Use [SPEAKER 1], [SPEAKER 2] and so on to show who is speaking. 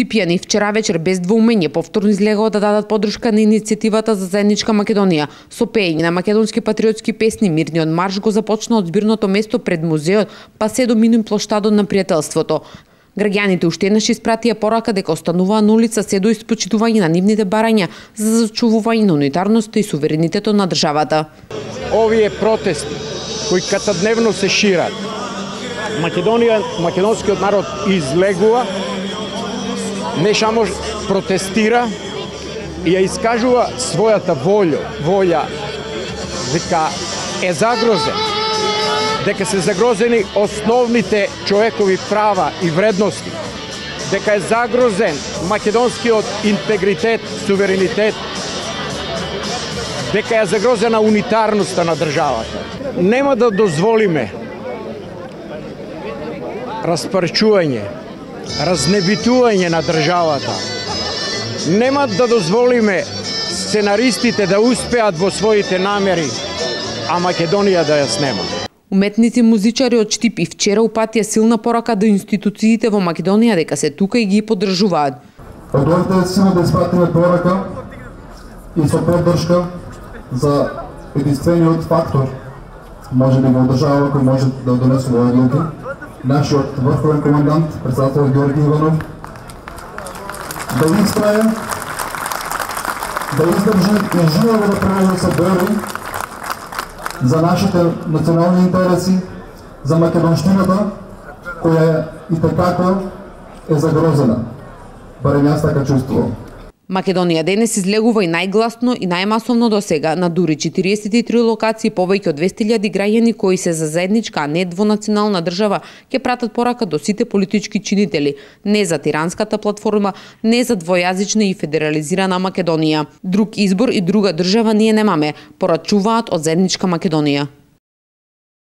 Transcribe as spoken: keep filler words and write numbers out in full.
[SPEAKER 1] Штипјани вчера вечер без двоумење повторно излегоа да дадат подршка на иницијативата за заедничка Македонија. Со пеење на македонски патриотски песни, мирниот марш го започна од збирното место пред музеот, па се до минин плоштадот на пријателството. Граѓаните уште еднаш испратија порака дека остануваа на улица се до испочитување на нивните барања за зачувување на унитарноста и суверенитетот на државата.
[SPEAKER 2] Овие протести кои катадневно се шират, Македонија, македонскиот народ излегува, не само протестира и ја искажува својата волја, волја дека е загрозен, дека се загрозени основните човекови права и вредности, дека е загрозен македонскиот интегритет, суверенитет, дека е загрозена унитарноста на државата. Нема да дозволиме распарчување, разнебитување на државата. Нема да дозволиме сценаристите да успеат во своите намери, а Македонија да ја снема.
[SPEAKER 1] Уметници и музичари од Штип и вчера упатија силна порака до институциите во Македонија дека се тука и ги поддржуваат.
[SPEAKER 3] Дојдете силно да испратиме порака и со поддршка за единствениот фактор, може би во држава кој може да донесе овие одлуки, нашиот врховен командант, председател Георги Иванов, да истрае, да издржи и живо да продолжи се бори за нашите национални интереси, за македонштината, која и така е загрозена. Барем јас така чувствувам.
[SPEAKER 1] Македонија денес излегува и најгласно и најмасовно до сега на дури четириесет и три локации повеќе од двесте илјади граѓани кои се за заедничка, а не двонационална држава, ќе пратат порака до сите политички чинители, не за тиранската платформа, не за двојазична и федерализирана Македонија. Друг избор и друга држава ние немаме, порачуваат од заедничка Македонија.